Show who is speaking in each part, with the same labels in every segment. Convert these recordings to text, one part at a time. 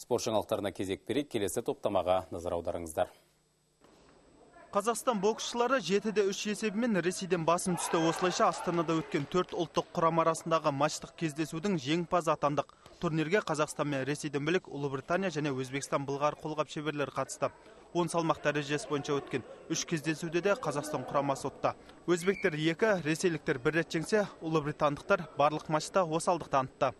Speaker 1: Спорт жаңалықтарына кезек берейік, келесі топтамаға назар аударыңыздар.
Speaker 2: Қазақстан боксшылары 7-3 есебімен Ресейден басым түсті. Осылайша Астанада өткен 4 ұлттық құрама арасындағы матчтық кездесудің жеңімпазы атандық. Турнирге Қазақстан мен Ресейден бөлек Ұлыбритания және Өзбекстан былғары қолғап шеберлері қатысты. 10 салмақ дәрежесі бойынша өткен 3 кездесуде де Қазақстан құрамасы ұтты. Өзбектер 2, ресейліктер 1 рет жеңсе, ұлыбритандықтар барлық матчта осалдық танытты.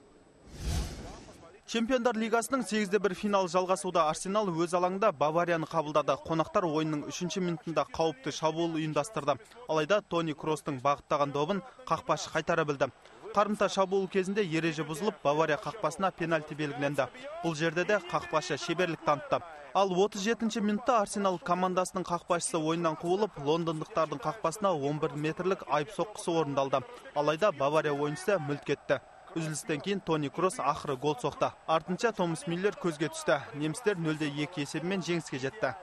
Speaker 2: Чемпиондар лигасының 8-1 финал жалғасуда. Арсенал өз алаңында Баварияны қабылдады. Қонақтар ойынның 3-ші минутында қауіпті шабуыл ұйымдастырды. Алайда Тони Кростың бағыттаған добын қақпашы қайтара білді. Қарымта шабуыл кезінде ереже бұзылып, Бавария қақпасына пенальти белгіленді. Бұл жерде де қақпашы шеберлік танытты. Ал 37-ші минутта Арсенал командасының қақпашысы ойыннан қуылып, лондондықтардың қақпасына 11 метрлік айып соққысы орындалды. Алайда Бавария ойыншысы мүлт кетті. Үзілістен кейін Тони Кросс ақыры гол соқты. Артынша Томас Мюллер көзге түсті. Немістер 0-2 есебімен жеңіске жетті.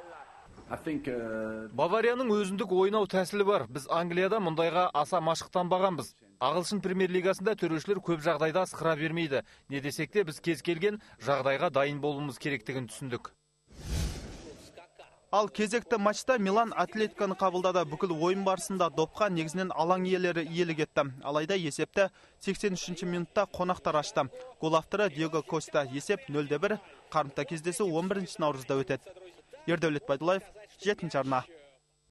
Speaker 3: Баварияның өзіндік ойнау тәсілі бар. Біз Англияда мұндайға аса машықтанбағанбыз. Ағылшын премьер лигасында төрешілер көп жағдайда сықыра бермейді. Не десек те біз кез келген жағдайға дайын болуымыз керектігін түсіндік.
Speaker 2: Ал кезекті матчта Милан Атлетиканы қабылдады. Бүкіл ойын барысында допқа негізінен алаң иелері иелік етті. Алайда есепті 83-ші минутта қонақтар ашты. Гол авторы Диего Коста. Есеп 0-1. Қарымта кездесу 11 наурызда өтеді. Ердәулет Байдуллаев, 7-ші арна.